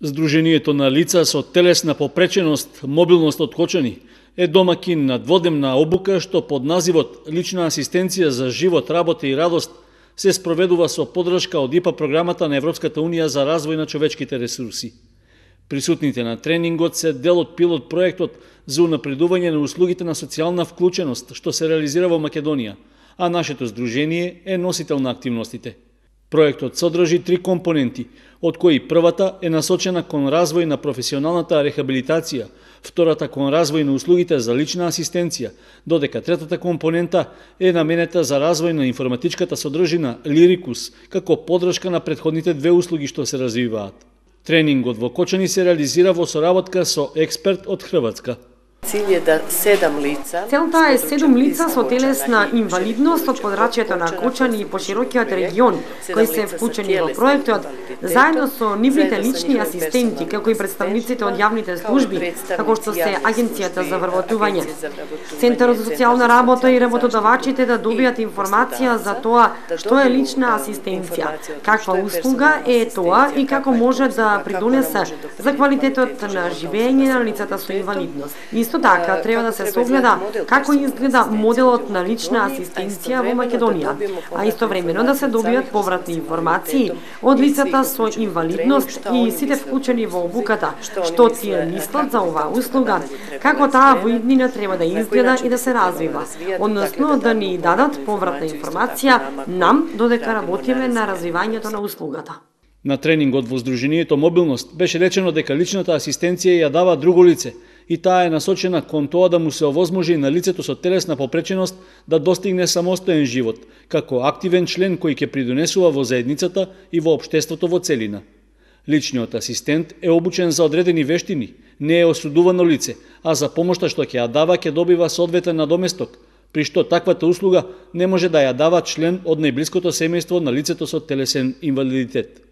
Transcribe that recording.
Здруженијето на лица со телесна попреченост, мобилност откочени е домакин на дводневна обука што под називот Лична асистенција за живот, работа и радост се спроведува со поддршка од ИПА програмата на Европската Унија за развој на човечките ресурси. Присутните на тренингот се дел од пилот проектот за унапредување на услугите на социјална вклученост што се реализира во Македонија, а нашето здружение е носител на активностите. Проектот содржи 3 компоненти, од кои првата е насочена кон развој на професионалната рехабилитација, втората кон развој на услугите за лична асистенција, додека третата компонента е наменета за развој на информатичката содржина Лирикус, како поддршка на претходните две услуги што се развиваат. Тренингот во Кочани се реализира во соработка со експерт од Хрватска. Целта е 7 лица со телесна инвалидност од подрачјето на Кочани и поширокиот регион, кои се вклучени во проектот, заедно со нивните лични асистенти, како и представниците од јавните служби, како што се Агенцијата за вработување. Центарот за социјална работа и работодавачите да добијат информација за тоа што е лична асистенција, каква услуга е тоа и како може да придонесе за квалитетот на живење на лицата со инвалидност. Исто така, треба да се согледа како изгледа моделот на лична асистенција во Македонија, а истовремено да се добијат повратни информации од лицата со инвалидност и сите вклучени во обуката, што тие мислат за оваа услуга, како таа во иднина треба да изгледа и да се развива, односно да ни дадат повратна информација нам додека работиме на развивањето на услугата. На тренингот во Здруженијето Мобилност беше речено дека личната асистенција ја дава друго лице и таа е насочена кон тоа да му се овозможи на лицето со телесна попреченост да достигне самостоен живот, како активен член кој ќе придонесува во заедницата и во општеството во целина. Личниот асистент е обучен за одредени вештини, не е осудувано лице, а за помошта што ќе ја дава ќе добива соодветен надоместок, при што таквата услуга не може да ја дава член од најблиското семејство на лицето со телесен инвалидитет.